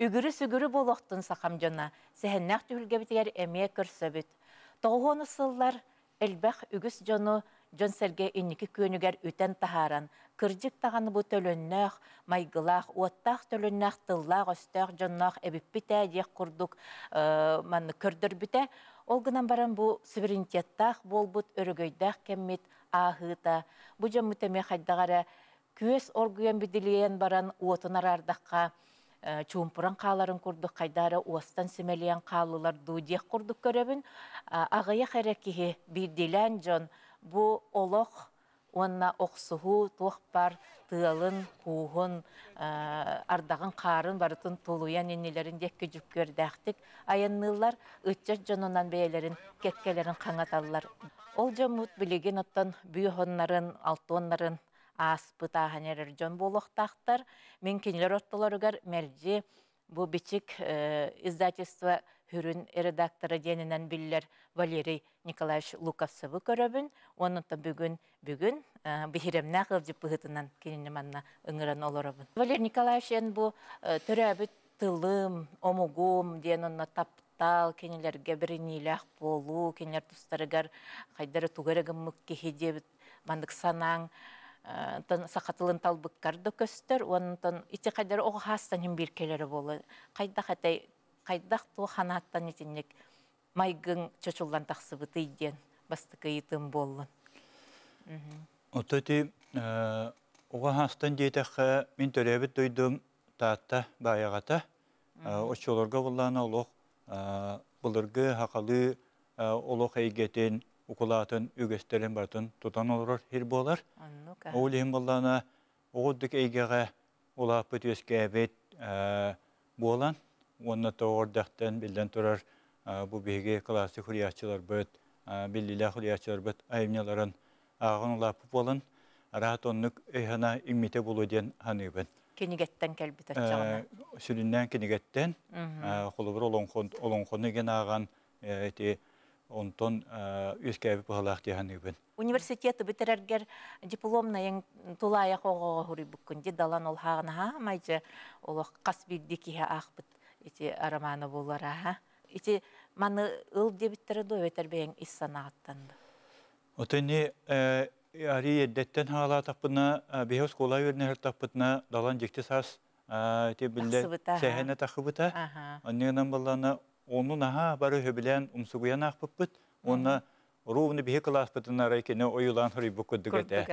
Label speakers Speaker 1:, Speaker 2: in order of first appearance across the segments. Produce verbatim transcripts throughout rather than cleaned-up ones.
Speaker 1: Үгүрү-сүгүрү буолуохтун сахам дьоно, сэһэннээх түһүлгэбитигэр эмиэ көрсөбүт. Тоҕуһуону сыллар элбэх үгүс дьону дьон-сэргэ инники күөнүгэр үтэн таһааран, кырдьык даҕаны бу төлөннөөх, майгылаах, уоттаах төлөннөөх, тыллаах-өстөөх дьонноох эбиппит ээ диэх курдук маннык көрдөрбүтэ. Ол гынан баран бу суверенитеттаах буолбут өрөгөйдөөх кэммит ааһыыта, бу дьоммут эмиэ хайдах эрэ күөс оргуйан бидилийэн баран уотун араардахха чуумпуран хааларын курдук хайдара уостан симэлийэн хааллылар дуу диэх курдук көрөбүн. Аҕыйах эрэ киһи биирдиилээн дьон бу олох уонна охсуһуу туох бар тыалын, кууһун, ардаҕын, хаарын барытын тулуйан иннилэрин диэкки дьүккүөрдээхтик айанныыллар, ыччат дьонунан бэйэлэрин кэккэлэрин хаҥаталлар. Ол дьоммут билигин оттон бүйүһоннарын, алтуоннарын ааспыт ааһан эрэр дьон буолуохтаахтар. Мин кинилэр ортолоругар мэлдьи бу бичик издательство хүрүн редактора диэнинэн биллэр Валерий Николаевич Луковцевы көрөбүн. Оннуттан бүгүн бүгүн биһиремнээх ыалдьыт быһыытынан кинини манна ыҥыран олоробун. Валерий Николаевич эн бу төрөөбүт тылым, омугум диэн онно таптал, кинилэргэ бириниилээх буолуу, кинилэр тустарыгар хайдары тугары гыммык киһи диэбит маннык санааҥ саха тылын талбыккар да көстөр, онтон ити хайдары оҕо хаастан хим бир келери болу. Хайдах этэй, хайдах ту ханааттан итинник майгын чочуллан тахсыбытый диэн бастыкыйытым боллун.
Speaker 2: Ото ти оҕо хаастан диэтэххэ мин төрөөбүт дойдум Таатта баайаҕата. Оччолорго буллаана олох былыргы хахалы олох эйгэтин укулаатын үгэстерин бартын тутан олорор хир буолар. Ол иһин буллаана оҕуддук эйгэҕэ улааппыт үөскээбит буолан, уонна тоҕордахтан биллэн турар бу биһиги классик хурияччыларбыт, биллилээх хурияччыларбыт айымньыларын ааҕын улааппыт буолан, араат оннук өйхана иммите булу диэн ханыыбын.
Speaker 1: Кинигеттен кэлбит аччаҕына.
Speaker 2: Сүрүннээн кинигеттен, холобур олоҥхону ген ааҕан эти онтон үөскээбит быһалаах дии ханыыбын.
Speaker 1: Университеты битерергер дипломнайын тулаайах оҕоҕо хуруйбуккун ди далан ол хааҕынаха майжы олох қас бирди киһи аахпыт ити романы булара ха. Ити маны ыл дебиттере до өтер бэйэң ис санааттанды.
Speaker 2: Отыни ари еддеттен хаала таппына биһи оскуола үөрнэһэр таппытына далан дьикти саас ти билле сэһэнэ тахыбыта. Аннынан баллана ону наха бары хөбүлээн умсугуян аахпыппыт. Онна ровно биһи класспытын арай кене ойулаан хоруйбук курдук этэ.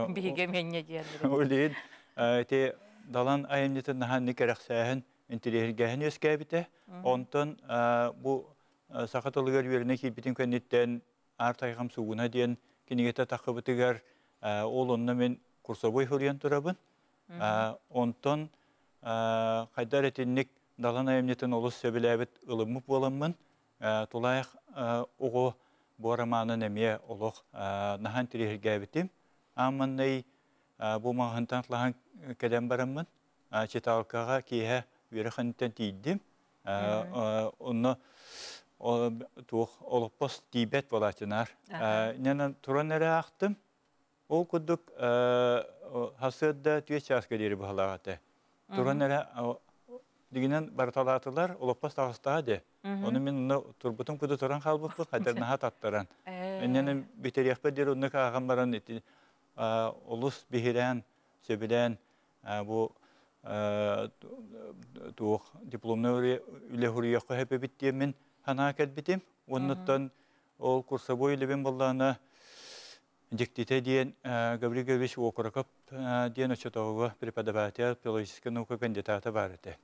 Speaker 1: Биһиге менне диэн.
Speaker 2: Олин ти далан айымньытын наха никерехсээһин интеллигенген үөскээбите. Онтон бу саха тылыгар үөрэнэ киирбитин кэнниттэн аар тайҕам суугуна диэн кинигете тахыбытыгар ол онно мен курсовой хуруйан турабын. Онтон хайдар этинник далан айымньытын олус сөбүлээбит ылыммыт буоламмын, тулаайах оҕо бу романын эмиэ олох наһан тириһиргээбитим. Аамманнай бу маҕаһынтан лаһан кэлэн бараммын, читалкаҕа киэһэ үөрэхэнтэн тиийдим. Онно туох олоппос тиийбэт буолааччынаар. Нянан туран эрэ аахтым. Ол курдук хасыадда түө чааска диэри быһалаах этэ. Туран эрэ дигинен барыталаатылар, олоппос таҕыстаҕа де. Ону мин онно турбутум куду туран хаалбыппын, хайдарнаха таттаран. Энненен битериэхпэ диэри оннук ааҕан баран ити олус биһирээн, сөбүлээн бу туох дипломный үлэ хуруйахха хэпэбит диэммин ханаа кэлбитим. Оннуттан ол курсовой үлэбин боллаана дьиктитэ диэн Гаврил Гаврилович Окороков диэн очотоҕуга преподаватель филологическай наука кандидата бар этэ.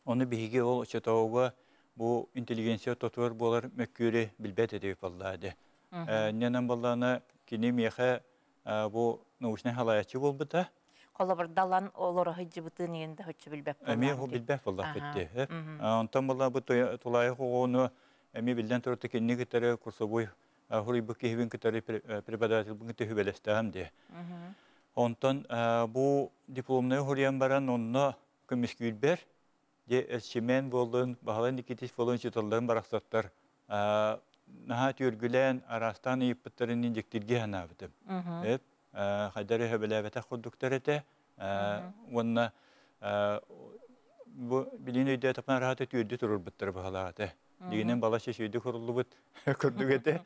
Speaker 2: Оны биһиги ол очотоҕуга бу интеллигенция тотуор буолар мөккүөрү билбэт этибит боллаады. Ненан боллаана кини миэхэ бу научный халаячы буолбута.
Speaker 1: Холобур далан олоро хыджыбытын иен да хөччү билбэт
Speaker 2: Эмиэ ху билбэт боллах битти. Онтон болла бу тулайы хоҕону эми билден туруту кинни кытары курсовой хуруйбук киһибин кытары преподаватель бун төһүбэлэстэһэм де. Онтон бу дипломный хуруйан баран онно көмүскүүрбэр де элчимен болдун, баһалан Никитич болун чыталларын барахсаттар наһаа түөргүлээн араастаан ыйыппыттарын индиктирге ханаабытым. Эп хайдары хөбөлөөбөтөх курдуктар этэ. Уонна Бу билин өйдө тапан рахаты түрдү турурбуттар баһалааты. Дигинен балашы сүйдү куруллубут көрдүк эте.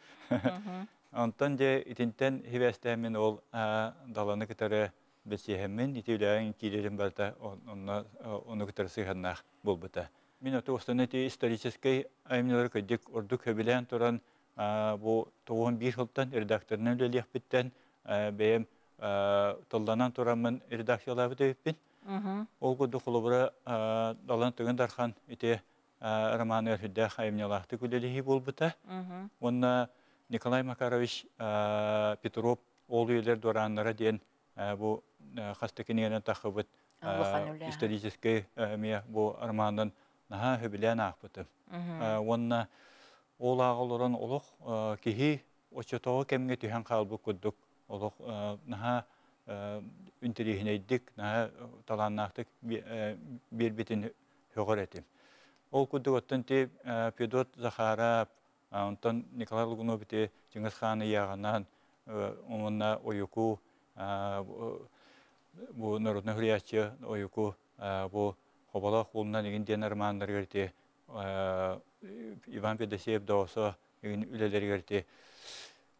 Speaker 2: Онтон же итинтен хибэстээмин ол даланы кытары бесиһэммин ити үлээн киирерин барта онно ону кытары сыһаннаах болбута. Мин оту останы ти исторический айымнылар көдүк ордук хөбүлээн туран бу тоғуон бир сылтан редакторынан үлэлиэхпиттен бэйэм тылланан тураммын редакциялаабыт эбиппин. Ол курдук холобура Далан Тыгын Дархан ити романы үрдээх айымньылаахтык үлэлиһии буолбута. Уонна Николай Макарович Петров ол үйэлэр дуорааннара диэн бу хаста кинигэнэн тахыбыт исторический эмиэ бу романын наһаа хөбүлээн аахпытым. Уонна ол ааҕа олорон олох киһи оччотооҕу кэмҥэ түһэн хаалбыт курдук олох наһаа интэриэһинэйдик, наһаа талааннаахтык биэрбитин сөҕөр этим. Ол курдук оттон ти Федот Захаров, онтон Николай Лугунов ити Чыңгыз хаан ыйааҕынан уонна Ойуку бу народный хуруйааччы Ойуку бу Хоболоох уолунан игин диэн романнарыгар ити Иван Федосеев Доосо игин үлэлэригэр ити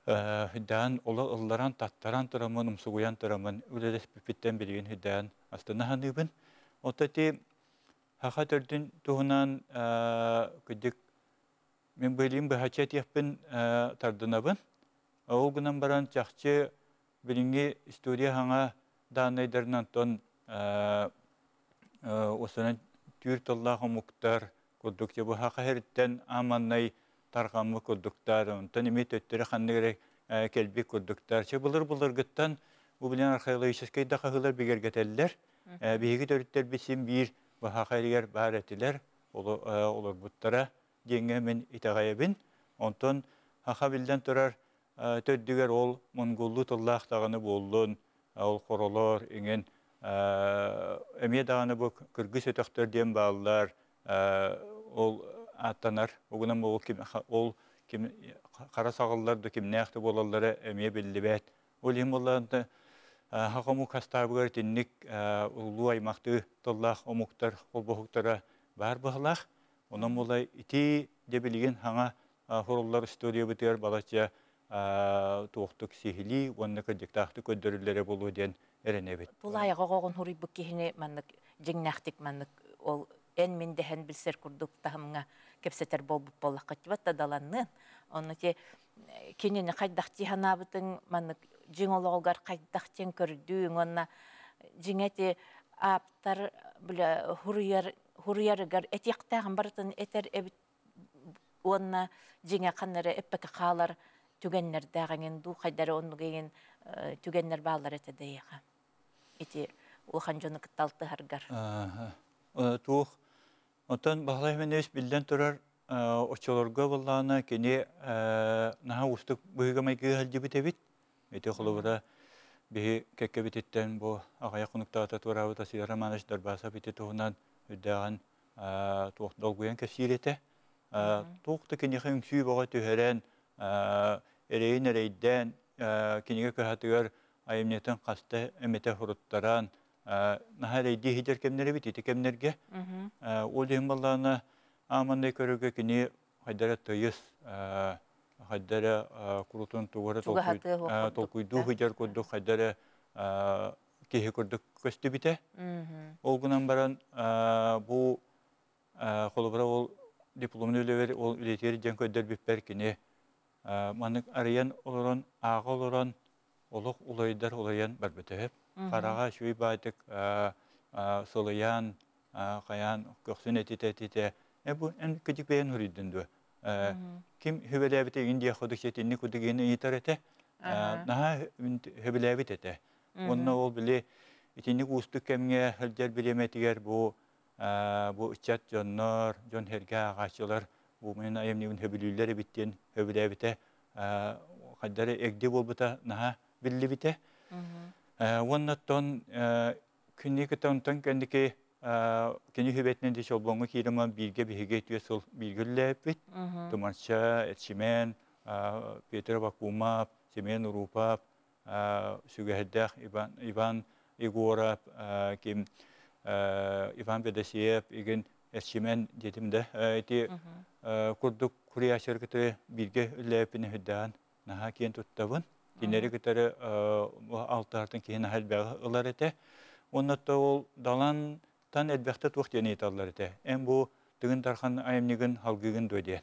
Speaker 2: хүддээн оло ылларан таттаран тураммын умсугуйан тураммын үлэлэспиппиттэн билигин хүддээн астына саныыбын. Оттон ити хаха төрдүн туһунан кырдьык мин быылыым быһаччы этиэхпин тардынабын. Ол гынан баран чахчы билиҥҥи история хаҥа дааннайдарынан тон осынан түүр тыллаах омуктар курдук бу хаха хериттен аманнай тарҕаммыт курдуктар, онтон эми төттөрү ханнык эрэ кэлбит курдуктар. Чэ былыр былыргыттан бу билэн археологическай да хаһыылар бигэргэтэллэр. Биһиги төрүттэрбит син биир баһаха эригэр баар этилэр, олорбуттара диэҥҥэ мин итэҕэйэбин. Онтон хаха биллэн турар төрдүгэр ол монголлуу тыллаах даҕаны буоллун, ол хоролор иҥин эмиэ даҕаны бу кыргыз өтөхтөр диэн бааллар, ол ааттанар. Угунан ол ким ол ким хара саҕаллар да кимнээх да буолаллара эмиэ биллибэт. Ол иһин буоллаҕына хаха омук хастаабыгар итинник улуу аймахтыы тыллаах омуктар холбоһуктара баар быһалаах. Онон буолла ити дьэ билигин хаҥа хуруллар историябытыгар балачча туохтук сиһилии уонна кырдьыктаахтык көрдөрүллэрэ буолуо диэн эрэнэбит.
Speaker 1: Тулаайаҕа оҕоҕун хуруйбут киһини маннык дьиҥнээхтик маннык ол эн мин дэһэн билсэр курдук таһымҥа кэпсэтэр буолбут буоллахха да даланныын. Онно те кинини хайдах тиһанаабытыҥ маннык дьиҥ олоҕугар хайдах тиэн көрдүүҥ уонна дьиҥэ ти ааптар бile хуруйар хуруйарыгар этиэхтээҕин барытын этэр эбит уонна дьиҥэ ханнары эппэкэ хаалар түгэннэрдээҕиҥин дуу хайдары оннугайын түгэннэр бааллар этэ дэйэха. Ити улахан дьону кытта алтыһаргар.
Speaker 2: Туох Оттон Баһылай Хименевич биллэн турар оччолорго буоллаҕына кини наһаа уустук быһыыга-майгыга сылдьыбыт эбит. Ити холобура биһи кэккэбититтэн бу аҕыйах хонуктаата туораабыт Василий Романович Дарбасов ити туһунан үрдээҕин туох долгуйан кэпсиир этэ. Туох да киниэхэ үҥсүү бөҕө түһэрэн, эрэйин эрэйдээн, кинигэ кыһатыгар айымньытын хаста эмэтэ суруттаран, наһаа эрэйдии иһитэр кэмнэр эбит ити кэмнэргэ. Ол иһин буоллаҕына ааманнай көрөргө кини хайдара тыйыс, хайдара курутун тугу эрэ толкуйдуу сылдьар курдук хайдара киһи курдук көстүбүтэ. Ол гынан баран бу холобура ол дипломный үлэбэр ол үлэтигэр диэн көрдөрбүппэр кини маннык арыйан олорон ааҕа олорон олох уларыйдар уларыйан барбыта үһү. Хараҕа үчүгэй баайдык сылыйан, хайаан көхсүн этитэ-этитэ э бу эн кыдьык бэйэн суруйдун дуо? Ким хөбөлөөбүтэ игин диэх курдук сэтинник курдук игин ыйытар этэ. Наһаа хөбөлөөбүт этэ. Уонна ол били итинник уустук кэмҥэ сылдьар бириэмэтигэр бу бу ыччат дьоннор, дьон сэргэ ааҕааччылар бу мин айымньыбын хөбүлүүллэр эбит диэн хөбүлээбитэ хайдары эгди буолбута наһаа биллибитэ. Уонна оттон күннүү кытта онтон кэнники кини хүбэтинэн ди Чолбоҥҥо киирэмэн бииргэ биһиги түөрт сыл бииргэ үлэлээбиппит. Тумарча, Эрчимэн, Петр Бакумов, Семен Урупов, Сүгэһэрдээх Иван, Иван Егоров, ким Иван Бедесиев игин Эрчимен детим да ити курдук куриячыр кытары бирге үллээппин хүддаан наха киэн туттабын. Кинери кытары алтыһартан киһи наха элбэҕи ылар этэ. Оннотто ол Далан тан элбэхтэ туох диэн ыйыталлар этэ. Эн бу Тыгын Дархан айымньыгын халгыгын дуо диэн.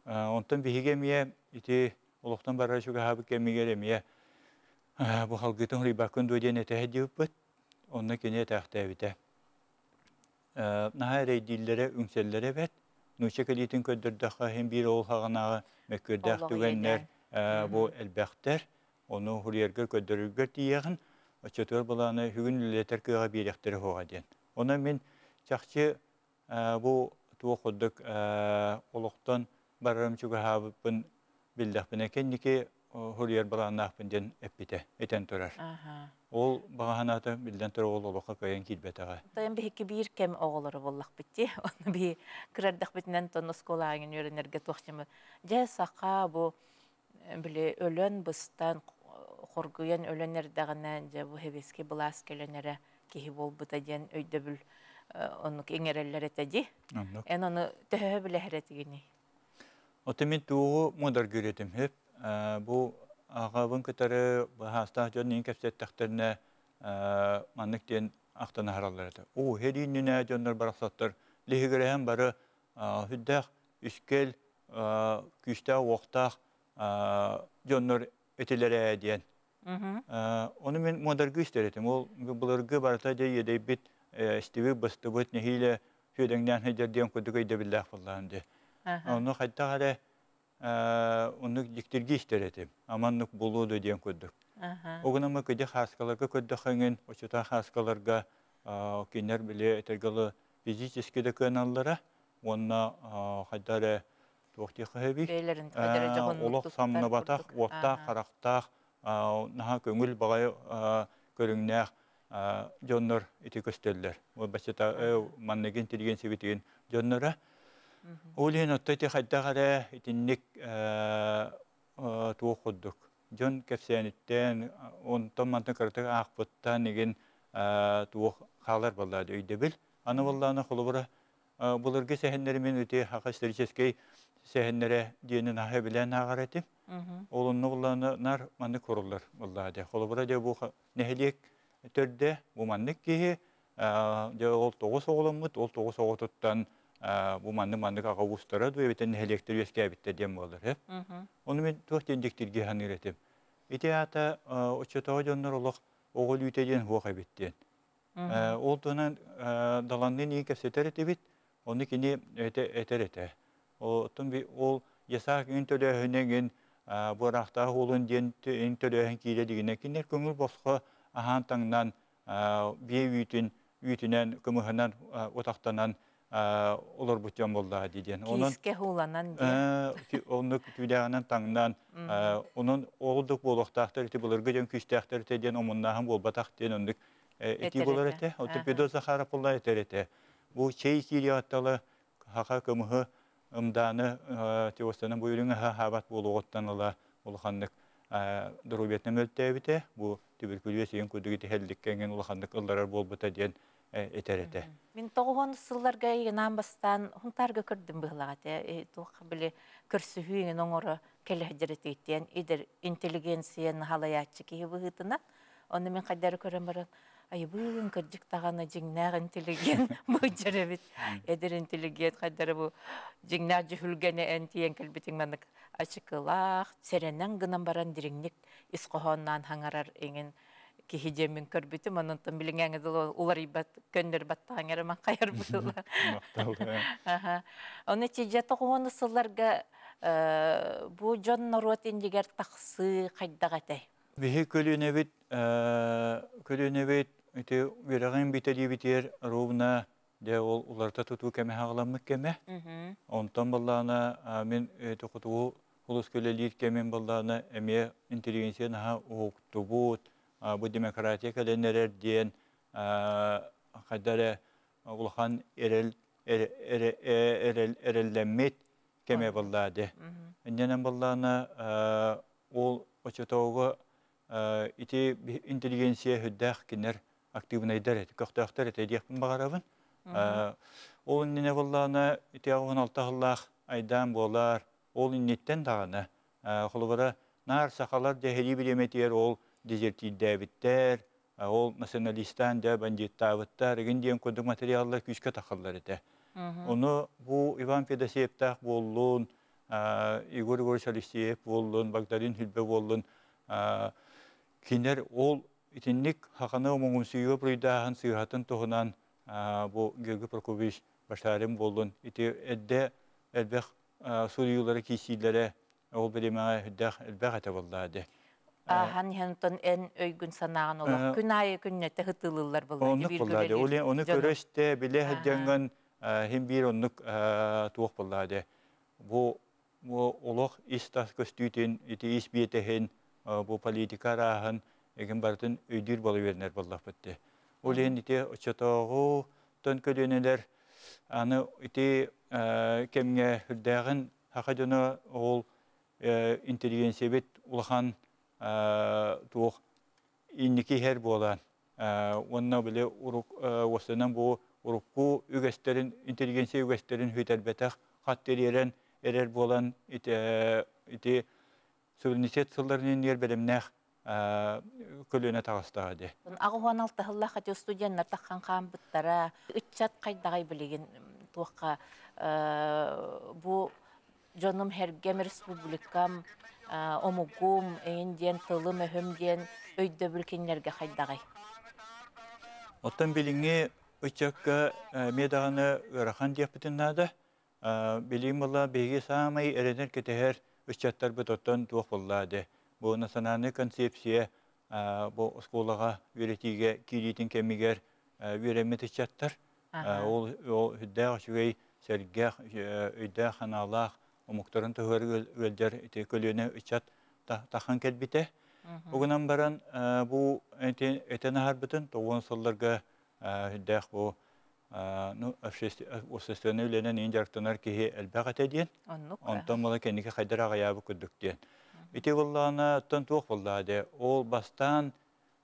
Speaker 2: Онтон биһиги эмиэ ити олохтон барар чугаһаабыт кэмигэр эмиэ бу халгыытын хуруйбаккын дуо диэн этэһэ диэбиппит. Онно кини этээхтээбитэ. Наһаа эрэйдииллэрэ, үҥсэллэрэ эбэт. Нуучча кэлиитин көрдөрдөххө иһин биир ол хаҕынааҕы мөккүөрдээх түгэннэр бу элбэхтэр. Ону хуруйаргар көрдөрөргөр тиийэҕин, оччотугар былааны бүгүн үлэлэтэр кыаҕа биэриэхтэрэ суоҕа диэн. Онон мин чахчы бу туох курдук олохтон барарым чугаһаабыппын биллэхпинэ кэнники хуруйар былааннаахпын диэн эппитэ, этэн турар. Ол баҕаһанаата биллэн турар ол олоххо кыайан киирбэтэҕэ.
Speaker 1: Тайын биһикки биир кэм оҕолоро буоллахпыт дии. Онно биһи кырардахпытынан тон оскуолааҥын үөрэнэргэ туохчымы. Дьэ саха бу били өлөн быстан хоргуйан өлөн эрдэҕинэ дьэ бу хэбиски былаас кэлэн эрэ киһи буолбута диэн өйдөбүл оннук иҥэрэллэр этэ дии. Эн ону төһө билэһэр этигиний?
Speaker 2: Ота мин туоҕу муодаргыыр этим хөп. Бу аҕабын кытары баһаастаах дьон иин кэпсэттэхтэринэ маннык диэн ахтан аһараллар этэ. Оо, хэрииннинэ дьоннор барахсаттар лиһигирэһэн бары хүддээх үскэл күүстээх уохтаах дьоннор этилэрэ диэн. Ону мин муодаргыы истэр этим. Ол былыргы барыта дьэ иэдэйбит, истибит, быстыбыт, нэһиилэ сүөдэҥнээн сылдьар диэн курдук өйдөбүллээх буоллаҕым дии. Ону хайдах эрэ оннук дьиктиргии истэр этим. Аманнык буолуо дуо диэн курдук. Огунама кыдьы хааскаларга көрдөхөҥүн, очута хааскаларга кинилэр били этэргэ физически да кыаналлара, уонна хайда эрэ туох диэхэ
Speaker 1: Бэйлэрин хайдара дьоһуннук
Speaker 2: олох
Speaker 1: туттар
Speaker 2: самныбатах,
Speaker 1: курдук.
Speaker 2: уоттаах, харахтаах, наһаа көҥүл баҕайы көрүҥнээх дьоннор ити көстөллөр. Ол баччата манныгын интеллигенция дьонноро. Ол иһин отто ити хайдах эрэ итинник туох курдук. Дьон кэпсээниттэн, онтон мантан кыратык аахпыттан игин туох хаалар баллаады өйдөбүл. Аны боллааны холобура былыргы сэһэннэри мин ити хака историческай сэһэннэрэ диэнин аһа билэн ааҕар этим. Ол онно боллааны нар маннык хоруллар боллаады. Холобура дьэ бу нэһилиэк төрдө бу маннык киһи дьэ ол тоҕус оҕоломмут, ол тоҕус оҕотуттан бу маннык маннык аҕа уустара дуо эбэтэр нэһилиэктэр үөскээбиттэр диэн буолар. Ону мин туох диэн дьиктиргэ саныыр этим. Ити аата оччотооҕу дьоннор олох оҕо өлүүтэ диэн суох эбит диэн. Ол туһунан Даланныын иин кэпсэтэр этибит, ону кини этэр этэ. Оттон ол ясаак иҥин төлөөһүнэ иҥин буораахтаах уолун диэн иҥин төлөөһүн киирэ дигинэ кинилэр көҥүл босхо аһаан таҥнан биэ үүтүн үүтүнэн кымыһынан утахтанан олорбут дьон буоллаҕа дии диэн. Онон
Speaker 1: Киискэ ууланан диэн.
Speaker 2: Оннук түүлээҕинэн таҥнан, онон оҕолдук буолуохтаахтар ити былыргы дьон күүстээхтэр этэ диэн омуннааһын буолбатах диэн оннук этии буолар этэ. Оттон Педот Захаров буолла этэр этэ. Бу чэй киириэҕиттэн хаха кымыһы ымдааны теостанан бу үрүҥ аһа хаабат буолуоҕуттан ыла улаханнык доруобуйатынан мөлтөөбүтэ. Бу түбүркүлүөс иһин курдук итиһэлликкэ улаханнык ылларар буолбута диэн этэр этэ.
Speaker 1: Мин тоҕуһун сылларга ынаан бастаан хунтаарга көрдүм быһылаҕа этэ. Туох били көрсүһүү оҥоро кэлэһдьэрэтииттиэн идер интеллигенцияны халаyaаччы киһи быһыытынан. Онно мин хайдары көрөн баран айыбыын кырдьык даҕаны дьиҥнээх интеллигент быдьар эбит. Эдэр интеллигент хайдары бу дьиҥнээх дьүһүлгэни эн тиийэн кэлбитиҥ маннык ачыкылаах, сэрэнэн гынан баран дириҥник ис хоһооннаан хаҥарар иҥин киһи диэммин көрбүтүм. Ононтон билиҥээҥи дылы уларыйбат, көннөрбат таҥарыман хайар быһыла. Оны чижэ тоҕуону сылларга бу дьон норуот иннигэр тахсыы хайдах этэй?
Speaker 2: Биһи көлүөнэбит көлүөнэбит ити үөрэҕин бүтэлиибитигэр ровно дьэ ол уларыта тутуу кэмэ хаҕаламмыт кэмэ. Онтон баллаана мин хотугу улус көлөлиир кэмин баллаана эмиэ интеллигенция наһаа уһуктубут, бу демократия кэлэн эрэр диэн хайда эрэ улахан эрэл эрэл эрэллэммит кэмэ баллаады. Иннэнэн баллаана ол очотоого ити интеллигенция хүддээх кинер Актыыбынайдар этэ, көхтөөхтөр этэ диэхпин баҕарабын. Ол иннинэ буоллаҕына ити аҕыс алта сыллаах айдаан буолар, ол инниттэн даҕаны холобура наар сахалар дьэһэлии бириэмэтигэр ол дезертирдээбиттэр, ол националистаан дьэ бандьыыттаабыттар игин диэн курдук материаллар күүскэ тахаллар этэ. Ону бу Иван Федосеевтаах буоллун, Егор Егорович Алексеев буоллун, Багдарыын Сүлбэ буоллун, кинилэр ол итинник хаханы омоҥумсуйууга буруйдааһын сыыһатын туһунан бу Георгий Прокопьевич Башарин буоллун, ити эрдэ элбэх суруйуулары киирсиилэрэ ол бириэмэҕэ үрдээх элбэх этэ буоллаа дии.
Speaker 1: Ааһан иһэн эн өйгүн санааҕын олох күн аайы күннэтэ ытыылыыллар буолла.
Speaker 2: Оннук буоллаа дии. Ол ону көрө истэ билэ сылдьаҥҥын хин биир оннук туох буоллаа дии. Бу бу олох ис-тас көстүүтүн, ити ис биэтэһин, бу политика арааһын эгин барытын өйдүүр буола үөрэнэр буоллахпыт дии. Ол иһин ити оччотооҕу тон көлүөнэлэр аны ити кэмҥэ үрдээҕин саха дьоно ол интеллигенциябит улахан туох инники иһэр буолан уонна били урук уостанан бу урукку үгэстэрин интеллигенция үгэстэрин хүйтэрбэтэх хат тириэрэн эрэр буолан ити ити суверенитет сылларын иннигэр бэлэмнээх көлүөнэ таҕыстаҕа дии.
Speaker 1: Аҕыс уон алта сыллаах ати студеннар таххан хаамбыттара. Ыччат хайдаҕай билигин туохха бу дьонум һэргэм республикам омугум эйин диэн тылым өһүм диэн өйдөбүл кинилэргэ хайдаҕай?
Speaker 2: Оттон билиҥҥи ыччакка эмиэ даҕаны ыарахан диэхпитин наада. Билигин буолла биһиги саамай эрэнэр кэтэһэр ыччаттарбыт оттон туох буолла дии. Бу национальнай концепция бу оскуолаҕа үөрэтиигэ киириитин кэмигэр үөрэммит ыччаттар. Ол үрдээх үчүгэй сэргэх өйдөөх ханаалаах омуктарын туһугар ыалдьар ити көлүөнэ ыччат тахан кэлбитэ. Угунан баран бу этэн аһарбытын тоҕус сылларга үрдээх бу ну общественный үлэнэн иин дьарыктанар киһи элбэх этэ диэн. Онтон була кэнники хайдар аҕайаабы курдук диэн. Ити буоллаҕына оттон туох буоллаҕа дии. Ол бастаан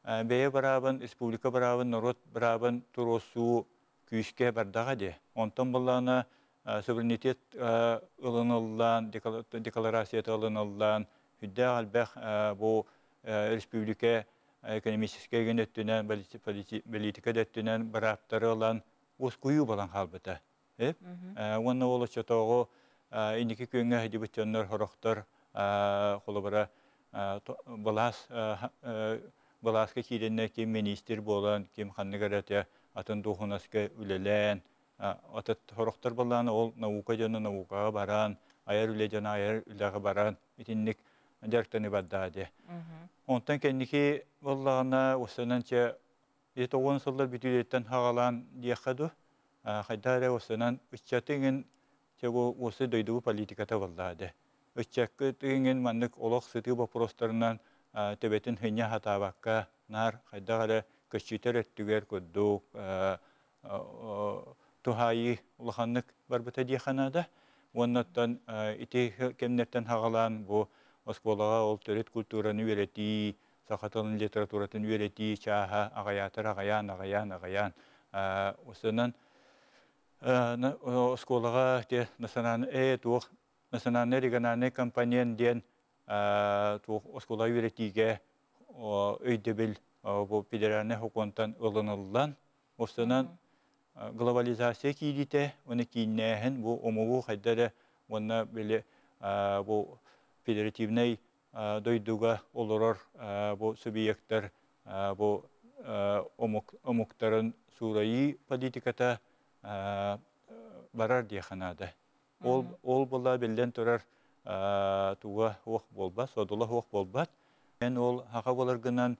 Speaker 2: бэйэ бараабын, республика бараабын, норуот бараабын туруорсуу күүскэ бардаҕа дии. Онтон буоллаҕына суверенитет ылыныллаан, декларацията ылыныллаан, үрдээх элбэх бу республика экономическай гын өттүнэн, политика да өттүнэн барааптары ылан уоскуйуу балан хаалбыта. Уонна ол оччотооҕу инники күөҥҥэ сылдьыбыт дьоннор сорохтор холобура былаас былааска киирэннэр ким министр буолан, ким ханнык эрэ атын дуоһунаска үлэлээн, атыт сорохтор буоллаҕына ол наука дьоно наукаҕа баран, айар үлэ дьоно айар үлэҕэ баран итинник дьарыктаныы бардаҕа дии. Онтон кэнники буоллаҕына уостанан чэ тоҕус сыллар бүтүүлэриттэн хаҕалаан диэххэ дуу, хайдах эрэ уостанан ыччаты иҥин чэ бу уосы дойдубу политиката буоллаҕа дии. Ыччаккыт иҥин маннык олох сытыы боппуруостарынан төбөтүн хынньа хатаабакка наар хайдах эрэ көччүтэр өттүгэр курдук туһаайыы улаханнык барбыта диэххэ наада. Уоннаттан ити кэмнэртэн хаҕалаан бу оскуолаҕа ол төрүт культураны үөрэтии, саха тылын литературатын үөрэтии чааһа аҕайаатар аҕайаан аҕайаан аҕайаан осынан оскуолаҕа те национальный э туох национальный региональный компонент диэн туох оскуола үөрэтиигэ өйдөбүл бу федеральный сокуонтан ылыныллан осынан глобализация киириитэ уонна кииннээһин бу омугу хайда эрэ уонна били бу федеративнай дойдуга олорор бу субъектар бу омук омуктарын суурайыы политиката барар диэххэ наада. Ол ол була биллэн турар туга уох буолбат, содула уох буолбат. Эн ол хаха буоларгынан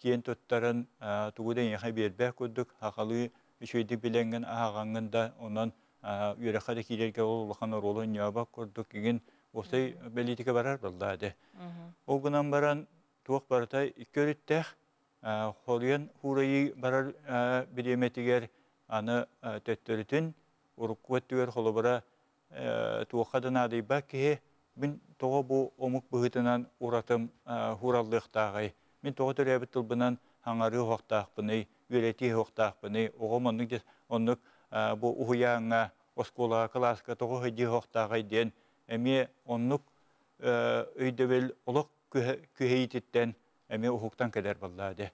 Speaker 2: киэн туттарын тугу да эйиэхэ биэрбэт курдук хахалыы үчүгэйдик билэҥҥин аһаҕаҥҥын да онон үөрэххэ да киирэргэ ол улахан оруолу оонньообот курдук игин уопсай бэлиитикэ барар буоллаа дии. Ол гынан баран туох барыта икки өрүттээх хоруйан хуурайыы барар бириэмэтигэр аны төттөрүтүн урукку өттүгэр холобура туохха да наадыйбат киһи мин тоҕо бу омук быһыытынан уратым хуураллыахтааҕый Мин тоҕо төрөөбүт тылбынан хаҥарыы хоқтаахпыный, үөрэтии хоқтаахпыный, оҕом оннук оннук бу уһуйааҥҥа, оскуолаҕа, кылааска тоҕо хыдьыы хоқтааҕай диэн эмиэ оннук өйдөбүл олох күһэйититтэн эмиэ уһуктан кэлэр баллаа де.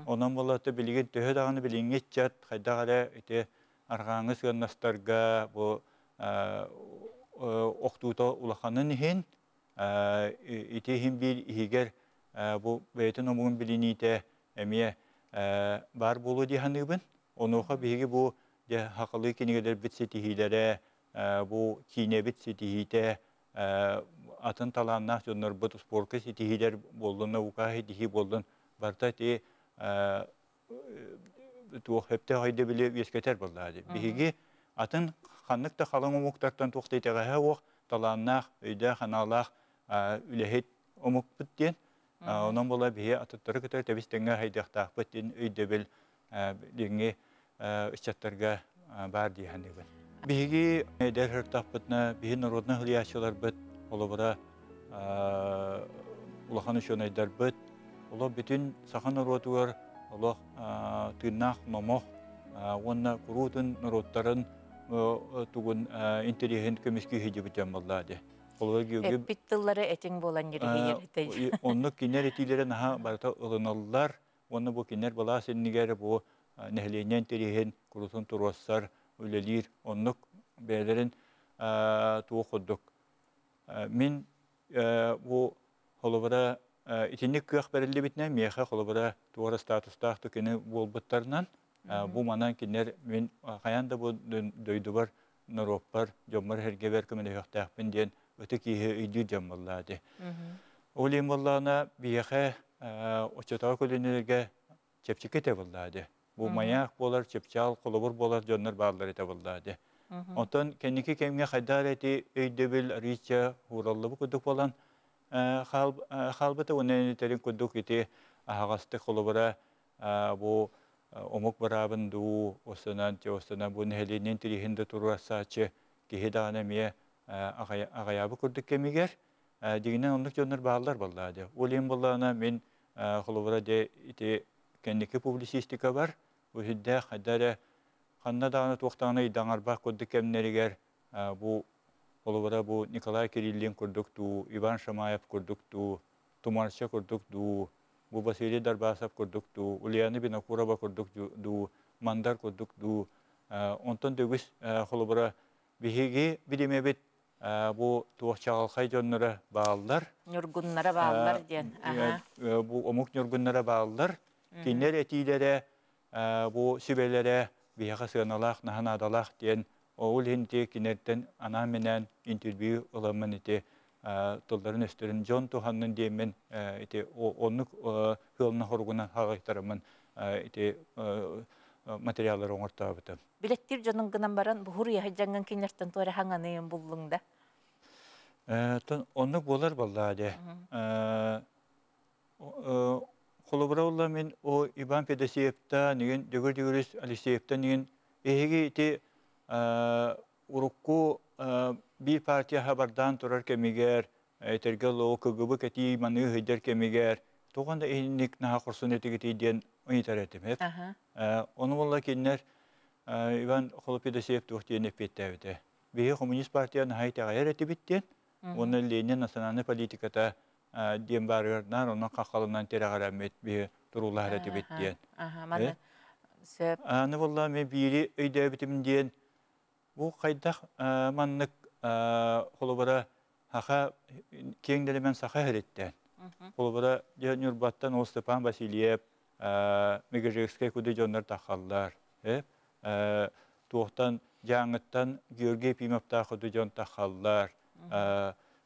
Speaker 2: Онон боллата билигин төһө даҕаны билиҥҥи ыччат хайдах эрэ ити арҕааҥы сыаннастарга бу охтуута улаханын иһин ити иһин биир иһигэр бу бэйэтин омугун билиниитэ эмиэ бар буолуо дии саныыбын. Онуоха биһиги бу дьэ хахалыы кинигэлэрбит ситиһиилэрэ, бу киинэбит ситиһиитэ, атын талааннаах дьоннорбут спорка ситиһиилэр буоллун, наука ситиһии буоллун, барыта ити туох хөптөөх өйдөбүлү үөскэтэр буоллаа дии. Биһиги атын ханнык да халыҥ омуктартан туох да итэҕэһэ уох талааннаах, өйдөөх, анаалаах үлэһит омукпут диэн. Онон була биһи атыттары кытары тэбис тэҥҥэ хайдыахтаахпыт диэн өйдөбүл билиҥҥи ыччаттарга баар дии саныыбын. Биһиги эдэр сыртахпытына биһи народнай хылыйааччыларбыт, холобура улахан учуонайдарбыт, олох бүтүн саха норуотугар олох тыыннаах номох уонна куруутун норуоттарын тугун интэриэһин көмүскүү сылдьыбыт дьон буоллаа дии.
Speaker 1: Эппит тыллары этиҥ буолан ньириһийэр.
Speaker 2: Оннук кинилэр этиилэрэ наһаа барыта ылыналлар. Уонна бу кинилэр былаас иннигэр бу нэһилиэнньэ интэриэһин курутун туруоссар, үлэлиир. Оннук бэйэлэрин туох курдук. Мин бу холобура итинник кыах бэриллибитинэн миэхэ холобура туора статустаах түкэни буолбуттарынан бу манан кинилэр мин хайаан да бу дойдубар, норуоппар, дьоммор сэргэбэр көмөлөһүөхтээхпин диэн ытык киһи өйдүүр дьон буоллаа дии. Ол иһин буоллаҕына биһиэхэ оччотооҕу көлүөнэлэргэ чэпчэки этэ буоллаа дии. Бу маяк буолар, чыпчаал, холобур буолар дьоннор бааллар этэ буоллаа дии. Онтон кэнники кэмҥэ хайдах эрэ ити өйдөбүл арыычча уураллыбыт курдук буолан хаалбыта уонна этэрин курдук ити аһаҕастык холобура бу омук быраабын дуу, осунан, осунан бу нэһилиэнньэ интэриэһин да туруорсааччы киһи даҕаны эмиэ аҕайаабыт курдук кэмигэр дигинэн оннук дьоннор бааллар буоллаа дии. Ол иһин буоллаҕына мин холобура дьэ ити кэнники публицистика бар, бу сүрдээх хайда эрэ ханна даҕаны туох даҕаны ыйдаҥарбах курдук кэмнэригэр бу холобура бу Николай Кириллин курдук дуу, Иван Шамаев курдук дуу, Тумарча курдук дуу, бу Василий Дарбасов курдук дуу, Ульяна Винокурова курдук дуу, Мандар курдук дуу, онтон да үгүс холобура биһиги билимэбит бу туох чаҕылхай дьонноро бааллар.
Speaker 1: Ньургуннара бааллар диэн.
Speaker 2: Бу омук ньургуннара бааллар. Кинилэр этиилэрэ, бу сүбэлэрэ биһиэхэ сыаналаах, наһанаадалаах диэн ол иһин ити кинилэртэн анаан-минээн интервью ыламмын ити тылларын өстөрүн дьон туһаннын диэммин ити оннук ыалына хоругунан хаҕайтараммын ити материаллары оҥортообутум.
Speaker 1: Билэттиир дьонун гынан баран буһур яһы дьаҥҥын кинилэртэн туора хаҥаныйын буллуҥ да?
Speaker 2: Оннук буолар баллаа дии. Холобура улла мин о Иван Федосеевта нигин Дөгөр Дөгөрүс Алексеевта нигин эһиги ити урукку биир партия хабардаан турар кэмигэр этэргэ лоо КГБ кэтии маныы ыйдар кэмигэр тоҕон да иһинник наһаа хорсун этигитий диэн ыйытар этим. Ону буолла кинилэр Иван Холопедосеев туох диэн эппиэттээбитэ. Биһи коммунист партия наһаа итэҕэйэр этибит диэн, уонна Ленин национальнай политиката диэн барыгар наар онон хаххалынан тирэҕэрэммит биһи туруулаһар этибит диэн. Аны буолла мен биири өйдөөбүтүм диэн бу хайдах маннык холобура хаха киэҥ дэлэмэн саха иһириттэн. Холобура Ньурбаттан ол Степан Васильев, Мегежекскэй куды дьоннор тахаллар. Туохтан Дьааҥыттан Георгий Ефимовтаах куду дьон тахаллар.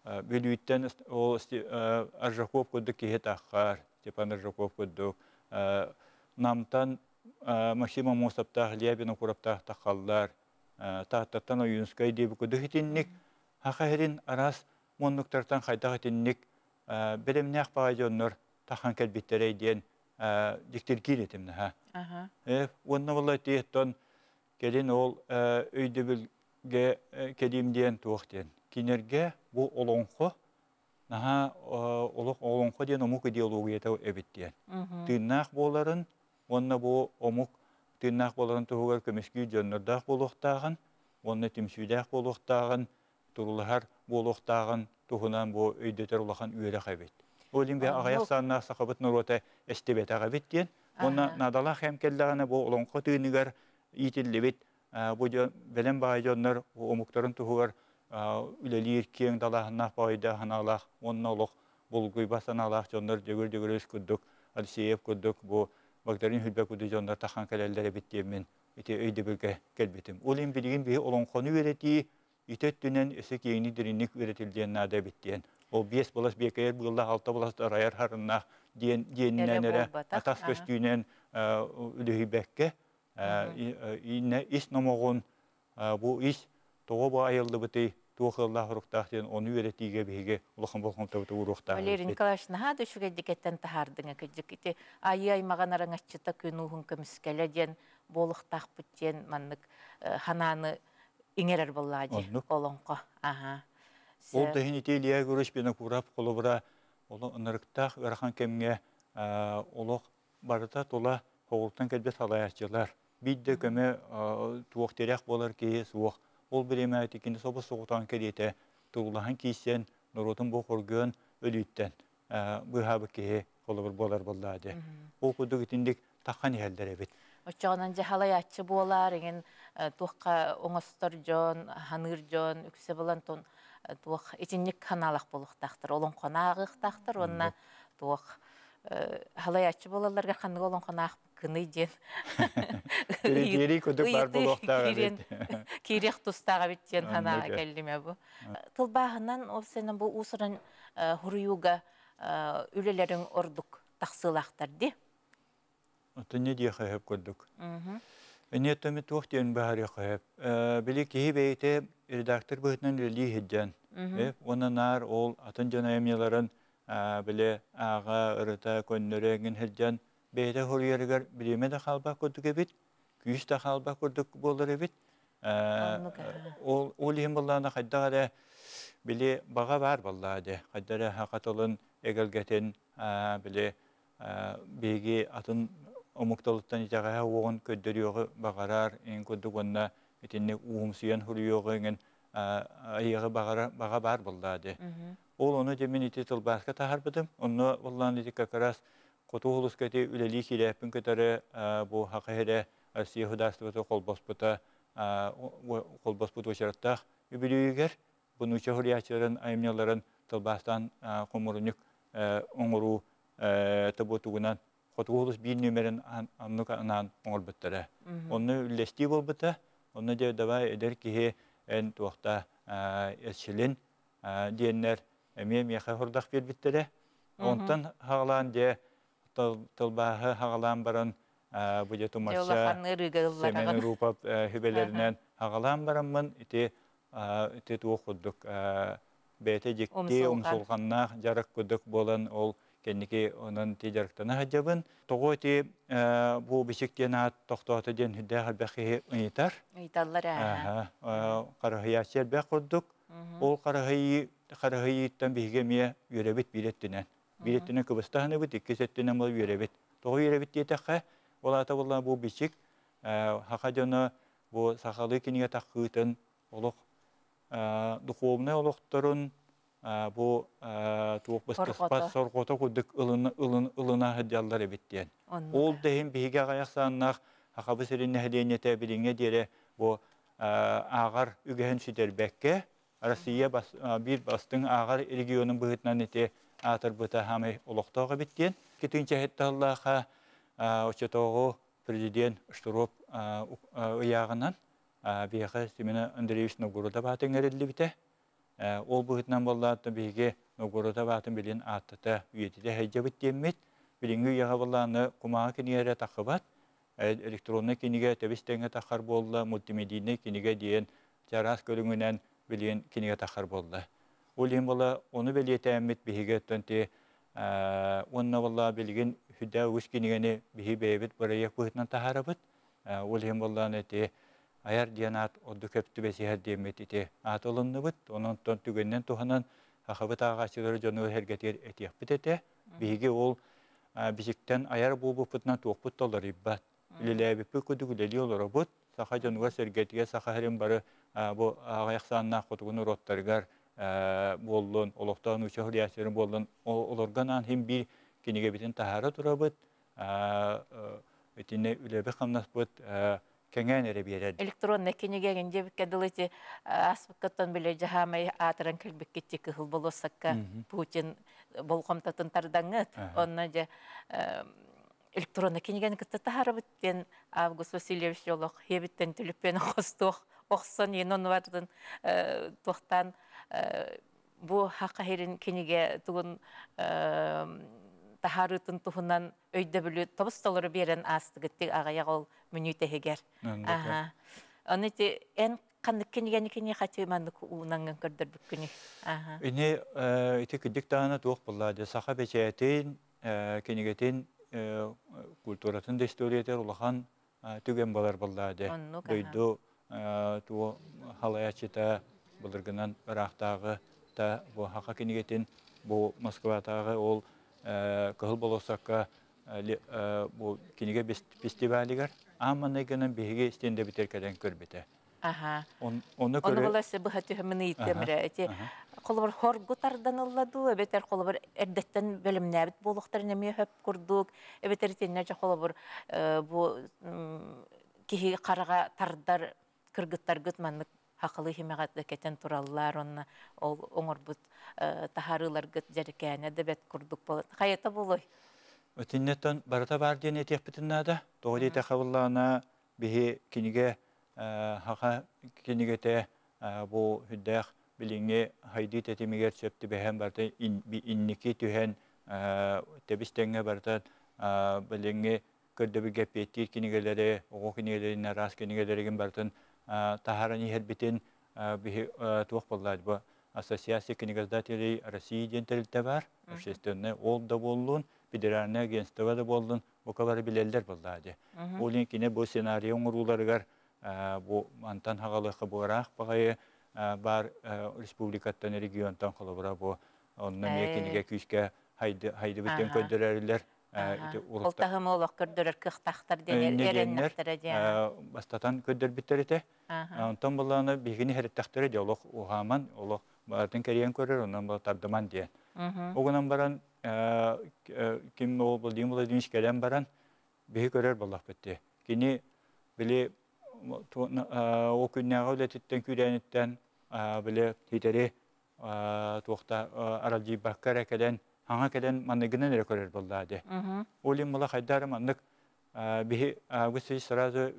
Speaker 2: Бүлүүттэн ол Аржаков курдук киһи таххар, Степан Аржаков курдук. Намтан Максим Аммосовтаах, Илья Винокуровтаах тахаллар. Тааттаттан Ойуунскай диэби курдук итинник хаха иһирин араас муннуктартан хайдах итинник бэлэмнээх баҕай дьоннор тахан кэлбиттэрэй диэн дьиктиргиир этим наһаа. Уонна буолла ити кэлин ол өйдөбүлгэ кэлиим диэн туох диэн. Кинерге бу олоҥхо Наһаа олох олоҥхо диэн омук идеологията эбит диэн. Тыыннаах буоларын, уонна бу омук тыыннаах буоларын туһугар көмүскүү дьоннордоох буолуохтааҕын, уонна түмсүүлээх буолуохтааҕын, турулаһар буолуохтааҕын туһунан бу өйдөтөр улахан үөрэх эбит. Ол иһин аҕыйах сааннаах сахабыт норуота эстибэтэх эбит диэн. Уонна наадалаах кэм кэллэҕинэ бу олоҥхо тыыныгар иитиллибит бу бэлэм баай дьоннор омуктарын туһугар үлэлиир киэҥ далааһыннаах баайдаах санаалаах уонна олох булгуйба санаалаах дьоннор Дьөгүр Дьөгүрүс курдук, Алексеев курдук, бу Багдарыын Хүлбэ курдук дьоннор тахан кэлэллэр эбит диэммин ити өйдөбүлгэ кэлбитим. Ол иһин билигин биһи олоҥхону үөрэтии ити өттүнэн өссө киэҥник дириҥник үөрэтиллиэн наада эбит диэн. Ол биэс былас биэкэйэр быыллаах, алта былас арайар харыннаах диэн диэнинэн эрэ атас көстүүнэн үлүһүйбэккэ ис номоҕун бу ис тоҕо бу айыллыбытый туох ыаллаах уруктаах диэн ону үөрэтиигэ биһиги улахан болҕомтобуту ууруохтаах.
Speaker 1: Валерий Николаевич, наһаа да үчүгэйдик таһаардыҥа кыдьык ити айыы аймаҕын араҥаччыта күн ууһун көмүскэлэ диэн буолуохтаахпыт диэн маннык ханааны иҥэрэр буоллаа дии олоҥхо. Аха.
Speaker 2: Ол да иһин ити Илья Егорович Винокуров холобура олох ынырыктаах ыарахан кэмҥэ олох барыта тула хоҕултан кэлбит салайааччылар биир да көмө туох тирэх буолар киһи суох. Ол бириэмэ кини собус соҕутаан кэриэтэ тугулаһан киисен норуотун бу хоргуон өлүүттэн быыһаабыт киһи холобур буолар буоллаа дии. Ол курдук итинник таххан иһэллэр эбит.
Speaker 1: Оччоҕунан дьаһалайааччы буолар, иҥин туохха оҥостор дьон, ханыыр дьон, үксэ булан тон туох итинник ханаалах буолуохтаахтар, олоҥхонааҕыахтаахтар уонна туох халайааччы буолалларга ханнык олоҥхонаах кыный диэн
Speaker 2: Кирири курдук бар буолуохтаах эбит.
Speaker 1: Киириэх тустаах эбит диэн ханаа кэллиме бу. Тылбааһынан ол сенен бу уусуран хуруйууга үлэлэриҥ ордук тахсыылаахтар ди.
Speaker 2: Отон диэхэ хөп курдук. Эне төмө туох диэн баһарыахха хөп. Били киһи бэйэтэ редактор быһыытынан үлэлии сылдьан. Уонна наар ол атын дьон айымньыларын били ааҕа, ырыта, көннөрө эҥин сылдьан бэйэтэ хоруйарыгар бириэмэ да хаалбат курдук эбит, күүс да хаалбат курдук буолар эбит. Ол ол иһин буоллаҕына хайдах эрэ били баҕа баар буоллаҕа дии. Хайдах эрэ саха тылын эгэлгэтин били биһиги атын омук тылыттан итэҕэһэ уоҕун көрдөрүөҕү баҕарар эҥин курдук уонна итинник уумсуйан суруйуоҕу эҥин айыаҕы баҕара баҕа баар буоллаҕа дии. Ол ону дьэ мин ити тылбааска таһаарбытым. Онно буоллаҕына ити как раз Хоту улууска ити үлэлии киирээппин кытары бу Саха сирэ Россия государствота холбоспута холбоспут уочараттаах үбүлүөйүгэр бу нуучча суруйааччыларын айымньыларын тылбаастаан хомурунньук оҥоруу тобуотугунан Хотугу улуус биир нүөмэрин оннук анаан оҥорбуттара. Онно үллэстии буолбута. Онно дьэ давай эдэр киһи эн туохта эрчилин диэннэр эмиэ миэхэ хордох биэрбиттэрэ. Онтон хаҕалаан дьэ тылбааһы хаҕалаан баран бу дьэ Тумарча Семен Рупов сүбэлэринэн хаҕалаан бараммын ити ити туох курдук бэйэтэ дьикти умсулҕаннаах дьарык курдук буолан ол кэнники онон ити дьарыктана сылдьабын. Тоҕо ити бу бичик диэн аат тохтоото диэн сүрдээх элбэх киһи ыйытар.
Speaker 1: Ыйыталлар ээ.
Speaker 2: Харыһыйааччы элбэх курдук. Ол харыһыйыы харыһыйыыттан биһиги эмиэ үөрэбит биир өттүнэн. Биир өттүнэн кыбыстаһыныбыт, иккис өттүнэн бұл үөрэбит. Тоҕо үөрэбит диэтэххэ, ол аата буолла бу бичик саха дьоно бу сахалыы кинигэ таххыытын олох духовнай олохторун бу туох быстыспат сорҕото курдук ылына сылдьаллар эбит диэн. Ол да иһин биһиги аҕыйах сааннаах Сахабы сирин нэһилиэнньэтэ билиҥҥэ диэри бу ааҕар үгэһин сүтэрбэккэ Россия биир бастыҥ ааҕар регионун быһыытынан ити аатырбыта хаамай олохтоох эбит диэн. Икки тыһыынча оччотооҕу президент Штыров ыйааҕынан биһиэхэ Семен Андреевич Новгородов аатын иҥэриллибитэ. Ол быһыытынан буоллаҕына биһиги Новгородов аатын билин ааттата үйэтитэ сылдьабыт диэммит. Билиҥҥи үйэҕэ буоллаҕына кумааҕы кинигэ эрэ таххыбат. Электроннай кинигэ тэбис тэҥҥэ таххар буолла, мультимедийнай кинигэ диэн чараас көрүҥүнэн билигин кинигэ таххар буолла. Ол иһин буола ону бэлиэтээммит биһиги оттон ти уонна буолла билигин сүрдээх үгүс кинигэни биһи бэйэбит бырайыак быһыытынан таһаарабыт. Ол иһин буоллаҕына ити айар диэн аат ордук көп түбэсиһэр диэммит ити аат ылынныбыт. Онон түгэнинэн туһанан хахабыт ааҕааччылары дьону эргэтигэр этиэхпит этэ. Биһиги ол бисиктен аяр буолбуппутунан туохпут толорuyбат. Үлэлээбиппит кудук үлэлии олоробут. Саха дьонугар сэргэтигэ саха хэрин бары бу аҕайахсааннаах хотугун уроттарыгар буоллун, олохтоон уча хулиасырын буоллун, олорган хим бир кинигэбитин таһаара турабыт. Итинне үлэби хамнаспыт кэҥээн эрэ биэрэр.
Speaker 1: Электронный кинигеген дебикке дылыти аспыккаттан биле жаһаамай аатыран кэлбиккитти кыһыл болуоссакка Путин болҕомтотун тардаңыт. Онно же электронный кинигени кытта таһарабыт диэн Август Васильевич олох хебиттен түлүппен хостуох охсон ен онуартын туохтан бу хакка киниге тугун тахарытын туһунан өйдөбүлү тобус толору берен астыгыттык агаяк ол мүнүүтэһигер. Аха. Аны ти эн каннык кинигени кини хати маннык уунанган көрдөрбүккүнү. Аха.
Speaker 2: Ини ити кидик таана туох булла саха бечээтин кинигетин культуратын да историятер улахан түген болар булла Дойду туо халаячыта былыргынан ыраахтаагы та бу хака кинигетин бу Москватаагы ол кыһыл болосакка бу киниге фестивалигар амманайгынан биһиги стенде битер кэлэн көрбүтэ.
Speaker 1: Аха. Оны боласы быха түһүмүн ыйытымыра. Эти холобур хоргу тарданылладу, эбетер холобур эрдеттен бөлүмнәбит болуктар неме хөп курдук, эбетер тенне холобур бу киһи карага тардар кыргыттаргыт маннык хақылы химеғат кетен тураллар, онна ол оңорбут тахарыларгыт жарыкәне дебет курдук болот. Хайата болой.
Speaker 2: Өтиннеттен барата бар диэн этиэхпитиннаада. Тоҕо диэтэ хабыллаана биһи киниге хака кинигете бу хүддээх билиҥҥи хайдыы тэтимигэр сөптү бэһэн барта инники түһэн тэбистеңҥэ барта билиҥҥи көрдөбүгэ пиэттиир кинигэлэри оҕо кинигэлэрин араас кинигэлэригин бартын тахаран иһэрбитин биһи туох боллаад бу Ассоциация книгоиздателей России диэн тэрилтэ бар, общественный ол да боллун, федеральное агентство да боллун, бу билеллер боллаади. Ол кине бу сценарий оңурууларыгар бу мантан хагалыхы бураах багайы бар республикаттан регионтан холобура бу онно мие киниге күүскэ хайды хайды битен көддөрөрлөр.
Speaker 1: Ол тахым олох көрдөрөр кыхтахтар диэн эреннехтере
Speaker 2: диэн. Бастатан көддөрбүттерите. Онтон булланы бигини хереттахтере де олох ухаман олох баатын кэриэн көрөр онон бу тардыман диэн. Огунан баран ким ол бу дим Владимирович кэлэн баран биһи көрөр боллах битти. Кини били о күннээҕи үлэтиттен күүрэниттен били хитери туохта аралдьыйбакка кэлэн хаҥа кэлэн манныгынан эрэ көрөр боллаа Олин мула хайдары маннык биһи агысы сразу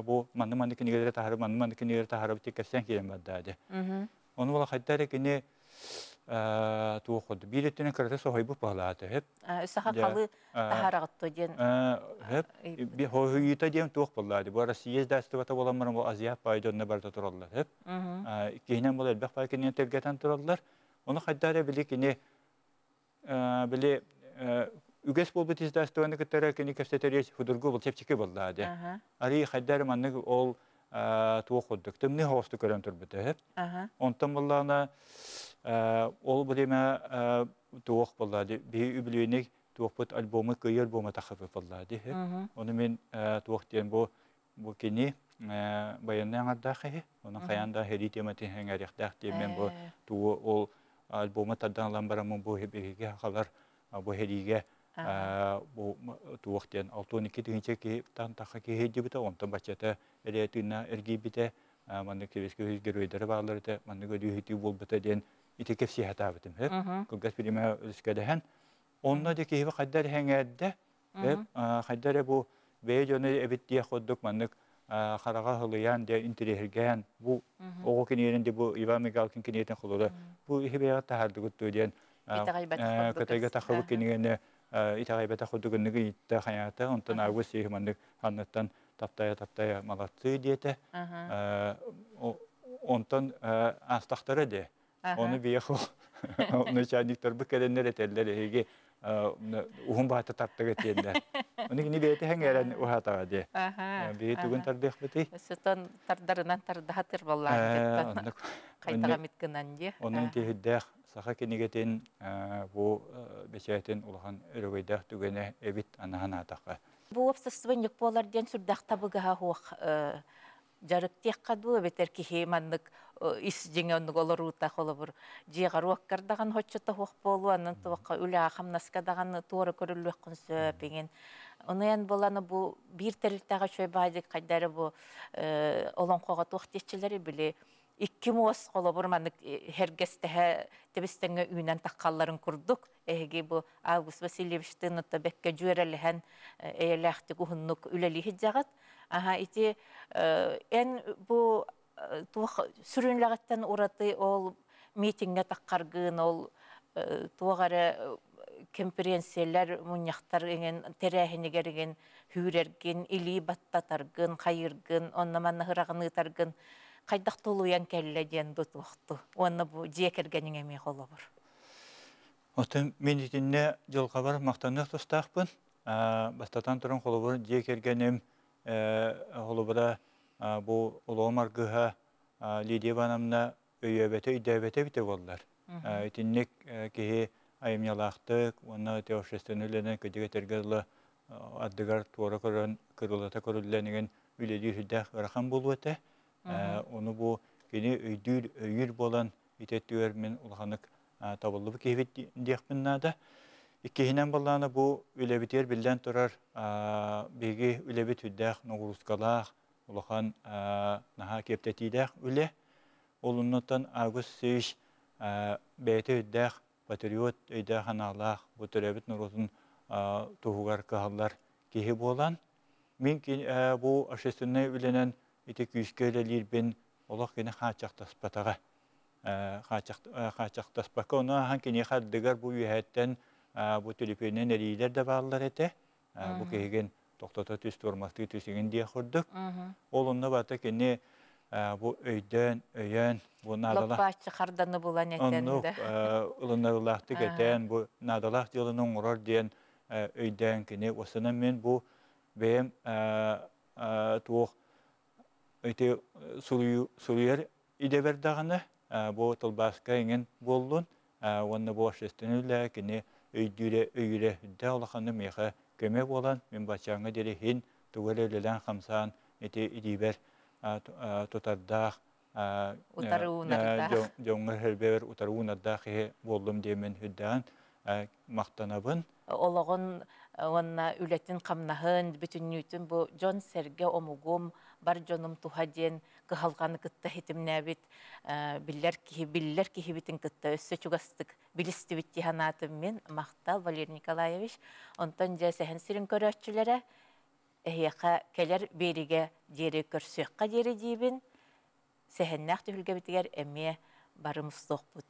Speaker 2: бу манны манны кинигелere тахары манны манны кинигелere тахары бити кэпсэн киирэн бардаады. Ону була хайдары кини туоход бииреттен кырата сохойбу палааты хеп.
Speaker 1: Саха калы тахарагытто диэн.
Speaker 2: Хеп би хойута диэн туох боллаады. Бу Россия дастыбата боламмар бу Азия пайдонна барда тураллар хеп. Иккиһинен бол элбэх пай кинен тергетен тураллар. Ону хайдары били кини били үгэс болбут издастыбаны кыттара кини кэпсэтериэс худургу бол чепчики боллаады. Ари хайдары маннык ол туох ходдук. Тымны хоосту көрөн турбута хеп. Онтон боллаана ол билеме туох боллаады. Би үбүлүнек туохпут альбомы кыйы альбома тахапы боллаады. Оны мен туох диэн бу бу кини баянны аңардаахы. Оның хаянда хери темати хәңәрихтәх диэн мен бу туу ол альбомы тардан алан барамын бу хебеге халар бу хериге бу туох диэн алтон икки тыгынча ки тан таха ки хедибите онтон бачата эре тыына эргийбите манны кебеске геройдары бааларыта манны көдүү болбута диэн ити кепси хатаабытым хеп кылгас бириме үлүскэдэхэн онно де киһи хайдар хәңәрдә хеп хайдар бу бэйэ дьону эбит диэ ходдук маннык харага хылыян де интерехерген бу ого киниэрин де бу Иван Мигалкин киниэтин холода бу ихибега тахардыгытту диэн кытайга тахыбык кинигене итагайбата ходугунныгы итта хаята онтон агы сиһи маннык ханныттан таптая таптая малатсы диэте онтон астахтара де оны биеху начальниктар бу келеннер этеллер эги ухун баата тартыга тиэннер Оны кини бэйте хәңәрән ухатага де. Би тугун тардык бити.
Speaker 1: Сөтөн тардарынан тардахатыр боллаан. Кайтага миткынан де.
Speaker 2: Onun тиһиддэх Саха кинигэтин бу бэчээтин улахан өрөгөйдөөх түгэнэ эбит анаһан аатахха.
Speaker 1: Бу уопсастыбанньык буолар диэн сүрдээх табыгаһа суох дьарык диэххэ дуу, эбэтэр киһи маннык ис дьиҥэ оннук олоруута, холобур, дьиэҕэр уоккар даҕаны хоччото суох буолуо, онон туохха үлэҕэ хамнаска даҕаны туора көрүллүөххүн сөп иҥин. Онуйан буоланы бу биир тэрилтэҕэ үчүгэй баайдык хайда эрэ бу олоҥхоҕо туох диэччилэри били икки муос холобур маннык хэргэстэһэ тэбистэҥҥэ үүнэн таххалларын курдук эһиги бу Август Васильевичтыын отто бэккэ дьүөрэлэһэн эйэлээхтик уһуннук үлэлииһит. Аха, ити эн бу туох сүрүнлэҕиттэн ураты ол митиҥҥэ таххаргын, ол туох эрэ конференциялар мунньахтар иҥин тэрээһинигэр иҥин хүүрэргин, илии баттатаргын, хайыргын, онно манна хыраҕыныытаргын хайдах тулуйан кэллэ диэн дутуохту. Уонна бу дьиэ кэргэниҥ эмиэ холобур.
Speaker 2: Оттон мин итиннэ дьылҕабар махтаныах тустаахпын. Бастатан туран, холобур, дьиэ кэргэним холобура бу олоҕум аргыһа Лидия Ивановна өйөөбөтө, өйдөөбөтө эбитэ буоллар. Итинник киһи айымньылаахтык уонна общественный үлэнэн кыдьык этэргэ дылы ардыгар туора көрөн кырылата көрүллэн үлэлиир сүрдээх ыарахан буолуо этэ. Ону бу кини өйдүүр, өйүүр буолан итеттүгэр мин улаханнык табыллыбыт киһибит диэхпин наада. Иккиһинэн буоллаана бу үлэбитигэр биллэн турар биһиги үлэбит сүрдээх ноҕуруускалаах, улахан наһаа киэптэтиилээх үлэ. Ол оннуттан Август Васильевич бэйэтэ өйдөөх патриот, өйдөөх анаалаах, бу төрөөбүт норуотун туһугар кыһаллар киһи буолан, мин бу общественный үлэнэн ити күүскэ үлэлиирбин олох кини хааччахтаспатаҕа. Хааччахтаспакка, ону ахан киниэхэ ардыгар бу үөһэттэн бу төлөпүөнүнэн эрийиилэр да бааллар этэ. Бу киһигин тохтото түс, туормастыы түс иҥин диэх курдук. Ол онно барыта кини бу өйдөөн, өйөөн, бу наадалаах
Speaker 1: Лоппааччы харданы булан этэн
Speaker 2: Оннук
Speaker 1: да.
Speaker 2: ылынарылаахтык этэн, бу наадалаах дьыаланы оҥорор диэн өйдөөн кини уостанан мин бу бэйэм туох ити суруйар идэбэр даҕаны бу тылбааска иҥин буоллун уонна бу общественный үлэ кини өйдүүрэ өйүүрэ үрдээх улаханнык миэхэ көмө буолан мин баччааҥҥа диэри иһин тугу эрэ үлэлээн хамсаан ити илиибэр тутардаах
Speaker 1: Утары уунардаах.
Speaker 2: Дьоҥҥо хөрбөөр утары уунардаах иһи буоллум диэмин үрдээн махтанабын.
Speaker 1: Олоҕун уонна үлэтин хамнаһын бүтүннүүтүн бу дьон сэргэ омугум бар дьонум туһа диэн кыһалҕаны кытта хитимнээбит биллэр киһи биллэр киһибитин кытта өссө чугастык билистибит тиһанаатым мин. Махтал, Валерий Николаевич. Онтон дьэ сэһэн сирин көрөөччүлэрэ эһиэхэ кэлэр биэригэ диэри көрсүөххэ диэри диибин, сэһэннээх түһүлгэбитигэр эмиэ барымустуохпут.